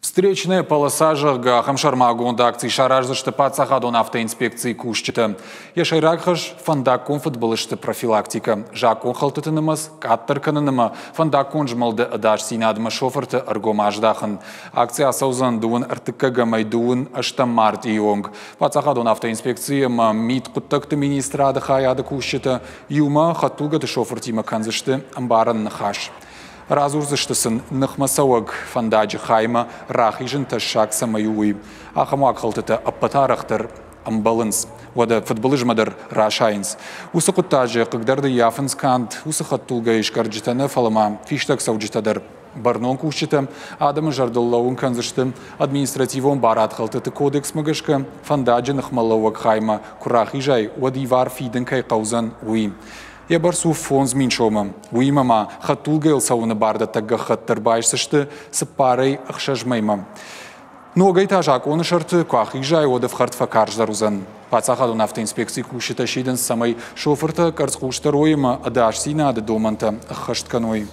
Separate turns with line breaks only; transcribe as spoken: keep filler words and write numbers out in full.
Встречная полоса, зӕгъгӕ, ахӕм сӕрмагонд акци сараздзысты паддзахадон автоинспекцийы кусджытӕ. Йӕ сӕйраг хӕс – фӕндаггон фыдбылызты профилактикӕ, закъонхӕлдтыты нымӕц къаддӕр кӕнын ӕмӕ фӕндаггон змӕлды ӕдасдзинадмӕ шофырты ӕргом аздахын. Акци ацӕудзӕн дыууын ӕртыккӕгӕмӕй дыууын ӕстӕм мартъийы онг. Паддзахадон автоинспекцийы ӕмӕ мидхъуыддӕгты министрады хайады кусджытӕ иумӕ хӕдтулгӕты шофыртимӕ кӕндзысты ӕмбарӕн ныхас. Радзурдзысты сын, ныхмӕцӕуӕг фӕндаджы хаймӕ рахизын тӕссаг цӕмӕй у, уый. Ахӕм уагхӕлдтытӕ ӕппӕт арӕхдӕр ӕмбӕлынц, уӕдӕ фыдбылызмӕ дӕр расайынц. Уыцы хъуыддаджы хъыгдарды ййафынц канд уыцы хӕдтулгӕйы скъӕрджытӕ нӕ, фӕлӕ ма фистӕгцӕуджытӕ дӕр. Бӕрнон кусджытӕ адӕмы зӕрдыл лӕууын кӕндзысты административон барадхӕлдтыты кодексмӕ гӕсгӕ фӕндаджы ныхмӕлӕууӕг хаймӕ куы рахизай, уӕд ивар фидын кӕй хъӕудзӕн, уый. Йӕ бӕрц у фондз мин сомы. Уыимӕ ма хӕдтулгӕйыл цӕуыны бардӕттӕг гӕххӕтт дӕр байсдзысты цыппарӕй ӕхсӕз мӕймӕ. Ногӕй та закъоны сӕрты куы ахизай, уӕд ӕфхӕрд фӕкарздӕр уыдзӕн. Паддзахадон автоинспекцийы кусджытӕ сидынц, цӕмӕй шофыртӕ къӕрцхъусдӕр уой ӕмӕ ӕдасдзинады домӕнтӕ ӕххӕст кӕной.